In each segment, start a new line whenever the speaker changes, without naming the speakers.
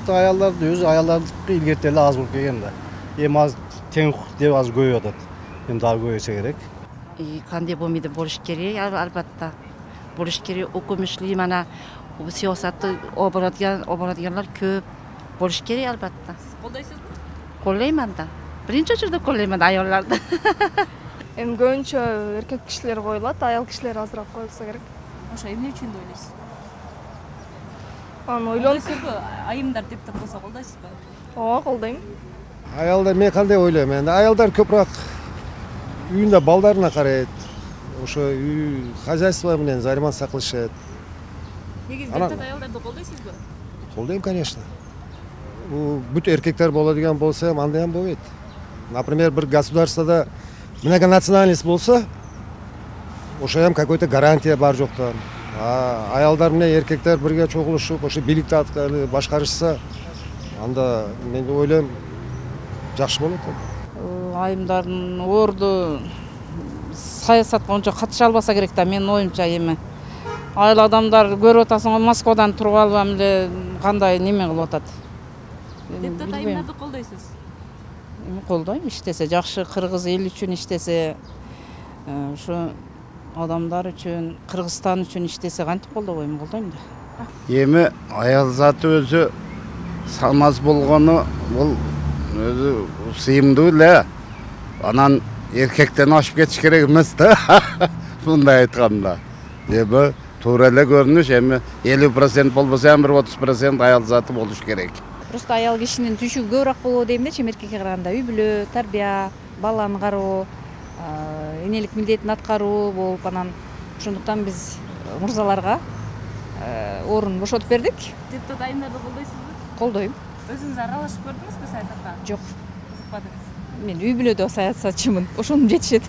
Аялдарды өзү аялдардыкы илгерти эле аз болуп келген да. Эми аз тең укук деп аз көбөйүп атат. Эми дагы көбөйсө керек.
Кандай болмойт болуш керек, албатта. Болуш керек, өкмөттүк мана саясатты оборатганlar көп. Болуш керек албатта.
Сиз колдойсузбу?
Колдоймун да. Биринчи очурда колдоймун аялдарды.
Эми көбүнчө эркек кишилер коюлат, аял кишилер азыраак коюлса керек.
Ошо эмне үчүн деп ойлойсуз?
Аны ойлонуп,
Айымдар депутат болсо колдойсузбу?
ооба колдойм.
Аялдар мен кандай ойлойм эndi аялдар көбүрөөк үйүндө балдарына карайт. Ошо үй хозяйство менен заниматься кылышат.
Негизи депутат аялдарды колдойсузбу?
Колдойм, конечно. Бүт эркектер боло деген болсо андай ham болбойт. Например, bir государствода многонациональность болсо, ошо ham какой-то гарантия бар жоктон. Аялдар менен эркектер бирге чогулушуп, ошо бийликти башкарышса, анда мен ойлойм жакшы болот.
Айымдардын орду саясатка ончо катыша албаса керек да, менин оюмча. Эми айыл адамдар көрүп атасың, Москвадан туруп алып эле кандай неме кылып атат.
Депутат айымдарды колдойсуз?
Эми колдойм, иштесе жакшы, кыргыз эл үчүн иштесе, ушу адамдар үчүн, Кыргызстан үчүн иштесе кантип колдобойм, колдойм да.
Эми аял заты өзү салмаз болгону бул өзү сыйымдуу эле. Анан эркектен ашып кетиш керек эмес да. Мындай айтканда. Эми туура эле көрүнүш, эми 50% болбосо ham 30% аял заты болуш керек.
Просто аял кишинин түшүгү көбүрөөк болобу дейм да, эркекке караганда. Үй бүлө, тарбия, баланы кароо, энелик милдетин аткаруу болуп, анан ошондуктан биз мырзаларга орун бошотуп бердик.
Депутат айымдарды колдойсузбу?
Колдойм.
Өзүңүз аралашып көрдүңүзбү саясатка?
Жок.
Кызыкпадыңыз?
Мен үй бүлөдө саясатчымын. Ошону жетишет.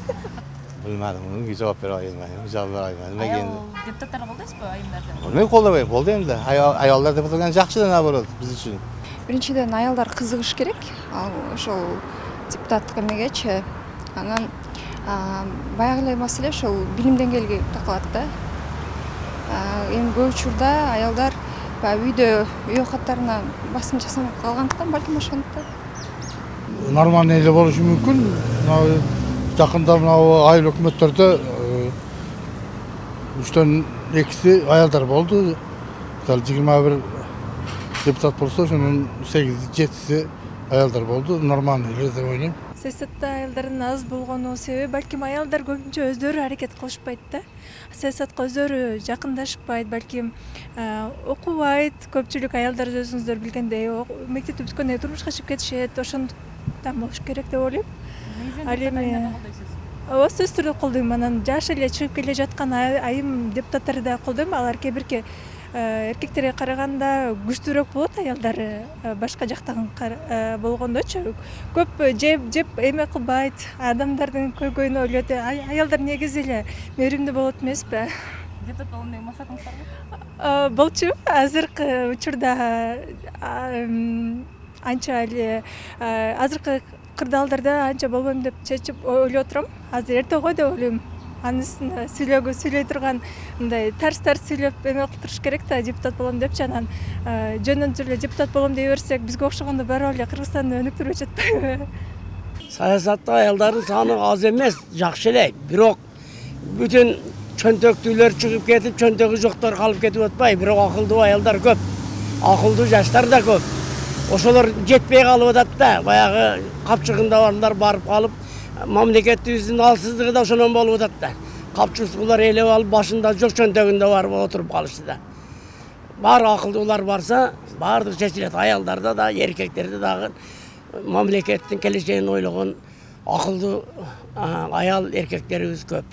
Билмедим, жооп бере албайм. Жооп бере албайм.
Аял депутаттарды колдойсузбу, айымдарды?
Мен колдобойм, колдойм да. Аялдар депутат болгон жакшы да, наоборот, биз үчүн.
Биринчиден аялдар кызыгыш керек. Ошол депутаттык эмегечи. Анан баягы эле маселе ошол билим деңгээлиге такалат да. Эми көп учурда аялдар үйдө үй каттарына басым жасамай калгандыктан, балким ошондуктан.
Нормальный эле болушу мүмкүн. Жакында мына айыл өкмөттөрдө 3төн 2си аялдар болду. Мисалы 21 депутат болсо, ошонун 8-7си аялдар болду. Нормальный эле деп ойлойм.
Саясатта аялдардын аз болгону себеби балким аялдар көбүнчө өздөрү аракет кылышпайт да. Саясатка өздөрү жакындашпайт, балким окубайт. Көпчүлүк аялдар өзүңүздөр билгендей, мектепти бүткөндөн турмушка чыгып кетишет. Ошондуктан болуш керек деп ойлойм. Ал эми сөзсүз түрдө колдойм. Анан жаш эле чыгып келе жаткан айым депутаттарды да колдойм. Алар кээ бирки эркектерге караганда күчтүүрөөк болот, аялдары башка жактан болгондочу. Көп жеп эме кылбайт, адамдардын көйгөйүн ойлойт. Аялдар негизи эле мээримдүү болот эмеспи?
Депутат болгон деген максатыңыз барбы?
Болчу. Азыркы учурда анча эле азыркы кырдаалдарда анча болбойм деп чечип ойлоп отурам. Азыр эрте го деп ойлойм. Анысын сүйлөй турган мындай тарс сүйлөп эме кылтырыш керек да, депутат болом депчи. Анан жөндөн эле депутат болом дей берсек, бизге окшогондо барып эле Кыргызстанды өнүктүрүп жатпайбы?
Саясатта аялдардын саны аз эмес, жакшы эле. Бирок бүтүн чөнтөктүүлөр чыгып кетип, чөнтөгү жоктор калып кетип атпайбы? Бирок акылдуу аялдар көп, акылдуу жаштар да көп. Ошолор жетпей калып атат да, баягы капчыгында барлар барып калып, мамлекетибиздин алсыздыгы да ошондон болуп атат да. Капчыгуулар ээлеп алып, башында жок, чөнтөгүндө барып отуруп калышты да. Бар акылдуулар барса, баардыгы чечилет. Аялдарда да, эркектерде дагы мамлекеттин келечегин ойлогон акылдуу аял эркектерибиз көп.